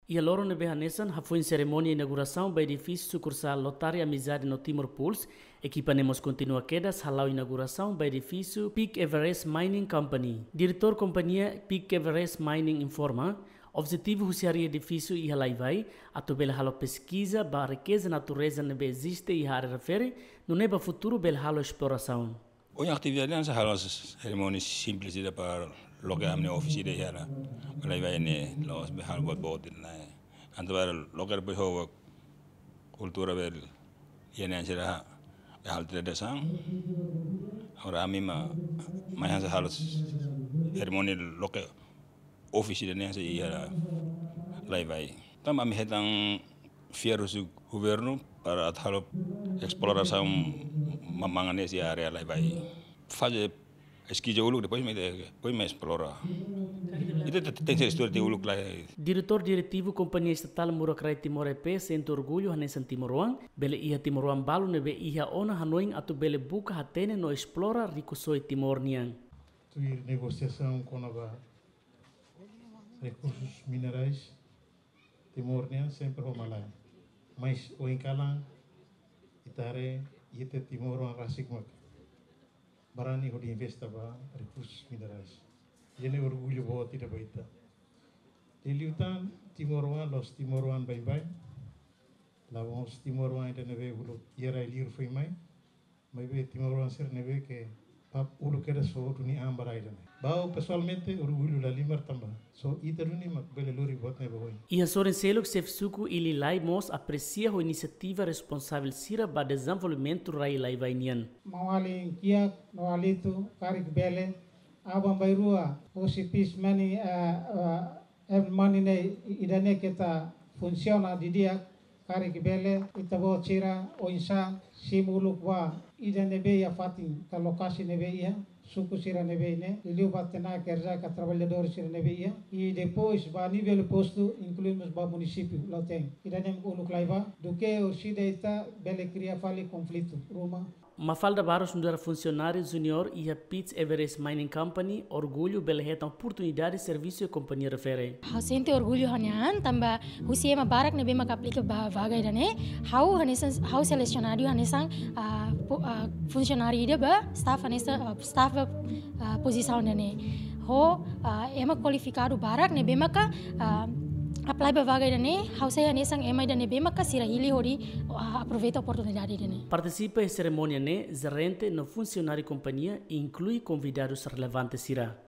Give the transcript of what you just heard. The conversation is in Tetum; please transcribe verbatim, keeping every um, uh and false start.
Iha loron ne'ebé hanesan hafoin serimónia inaugurasaun ba edifísiu sukursál Lotari Amizade no Timor Pulse, ekipa ne'e mós kontinua kedas hala'o inaugurasaun ba edifísiu Peak Everest Mining Company. Diretór kompañia Peak Everest Mining informa, objetivu husi harii edifísiu iha Laivai atu bele halo peskiza ba rikeza natureza ne'ebé eziste iha área refere, nune'e ba futuru bele halo esplorasaun. Ohin atividade ne'e halo serimónia simples ida para loke ami-nia office ida iha Laivai ne'e, la'ós be halo boot-boot ne'e. Entaun para loke depois ho kultura bele iha ne'e sira halo tradisaun. Agora ami mai, mai hanesan halo serimónia loke office ida ne'e iha Laivai. Tanba ami hetan fiar husi governu para atu halo esplorasaun mamanga ne'e iha área Laivai. Faze peskiza uluk, depois mai, depois mai esplora. Ita te-, tenke estuda tiha uluk lai. Diretór Diretivu Kompañia Estatál Murak Rai Timor E P sente orgullu hanesan timoroan, bele iha timoroan balu ne'ebé iha ona hanoin atu bele buka hatene no esplora rikusoin Timor nian. Tuir negosiasaun kona-ba rekursus minerais, Timor nian sempre ho malae. Mas ohin kalan ita haree, ita timoroan rasik mak barani hodi investa ba rekursus minerais. Ida-ne'e orgullu boot ida ba ita. Liuliu tan timoroan, la'ós timoroan baibain. La'ós timoroan ida ne'ebé uluk iha rai-liur foin mai. Maibé timoroan sira ne'ebé ke pap uluk kedas fó duni an ba rai ida-ne'e. Ha'u pesoalmente orgullu lahalimar tanba só ita duni mak bele lori buat ne'e ba oin. Iha sorin seluk, xefe suku Ililai mós apresia ho inisiativa responsavel sira ba dezenvolvimentu rai Laivai nian. Maun-alin kiak no alitu, karik bele, aban-bainrua, husi peace mining, eh, eh, earth mining ne'e, ida-ne'e keta funsiona didi'ak, karik bele, ita-boot sira oinsá simu uluk ba ida ne'ebé iha fatin ka lokasi ne'ebé iha suku sira ne'ebé ne'e, liuliu ba tenaga kerja ka traballadór sira ne'ebé iha, i depois ba nivel postu, inklui mós ba munisípiu Lautein. Ida-ne'e uluk lai ba, duké orsida ita bele kria fali konflitu ruma. Mafalda Barros nu'udar funsionáriu júnior iha Peak Everest Mining Company, orgullu bele hetan oportunidade servisu iha kompañia refere. Ha'u sente orgullu ha'u-nia an tanba husi ema barak ne'ebé maka aplika ba vaga ida-ne'e, ha'u hanesan, ha'u selesionadu hanesan, ah, po-, ah, funsionáriu ida ba staff hanesan, ah, staff ba, ah, pozisaun ida-ne'e. Ho, ah, ema kualifikadu barak ne'ebé maka, ah, apply ba vaga ida-ne'e, ha'u sai hanesan ema ida ne'ebé maka sira hili hodi, ah, aproveita oportunidade ida-ne'e. Partisipa iha serimónia ne'e, jerente no funsionáriu kompañia, inklui konvidadus relevante sira.